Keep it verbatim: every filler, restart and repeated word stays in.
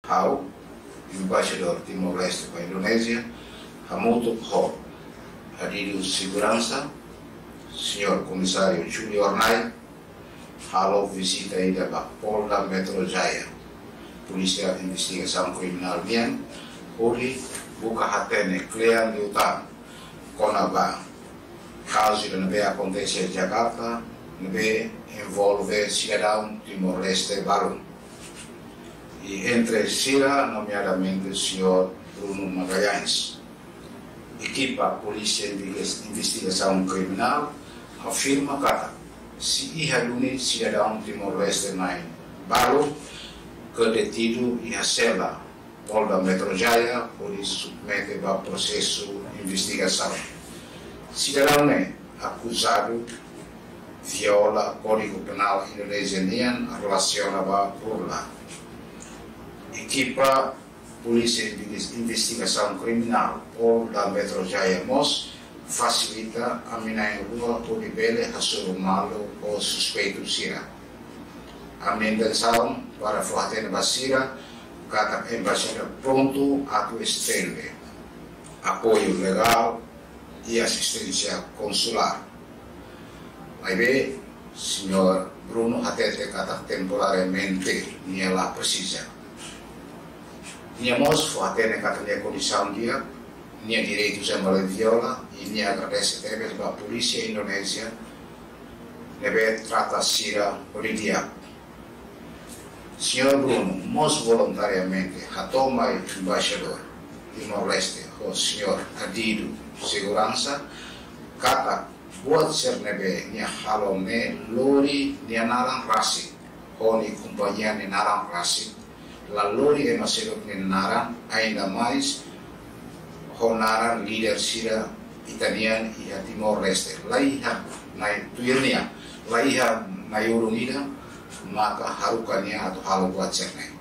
Ha'u, Embaixadór Timor-Leste ba Indonézia, hamutuk ho Adidu Seguransa, Señór Komisáriu Julio Hornai, halo vizita ida ba Polda Metro Jaya, Polísia Investigasaun Kriminál nian, hodi buka hatene kle'an liután kona-ba kazu ida ne'ebé akontese iha Jakarta, ne'ebé envolve sidadaun Timor-Leste balu. I entre sira, nomeadamente señór Bruno Magalhães. Ekipa Polísia Inves-, Investigasaun Kriminál afirma katak sei iha duni sidadaun Timor-Leste na'in balu ke detidu iha sela Polda Metro Jaya hodi submete ba prosesu investigasaun. Sidadaun ne'e akuzadu viola Kódigu Penál Indonézia nian relasiona ba burla. Ekipa Polísia Inves-, Investigasaun Kriminál Polda Metro Jaya mós fasilita ami na'in-rua hodi bele hasoru malu ho suspeitu sira. Ami-nia intensaun para fó hatene ba sira katak embaixada prontu atu estende apoiu legál i asisténsia konsulár. Maibé, señór Bruno hatete katak temporariamente nia la presiza. Nia mós fó hatene katak nia kondisaun di'ak, nia direitu sira la viola, i nia agradese tebes ba polísia Indonézia ne'ebé trata sira hodi di'ak. Señór Bruno mós voluntariamente hato'o mai embaixadór Timor-Leste ho señór Adidu Seguransa katak buat sira ne'ebé nia halo ne'e lori nia naran rasik, ho nia kompañia nia naran rasik, la lori ema seluk nia naran, ainda mais ho naran líder sira ita-nian iha Timor-Leste. La iha nai tuir nia, la iha nai-ulun ida maka haruka nia atu halo buat sira ne'e.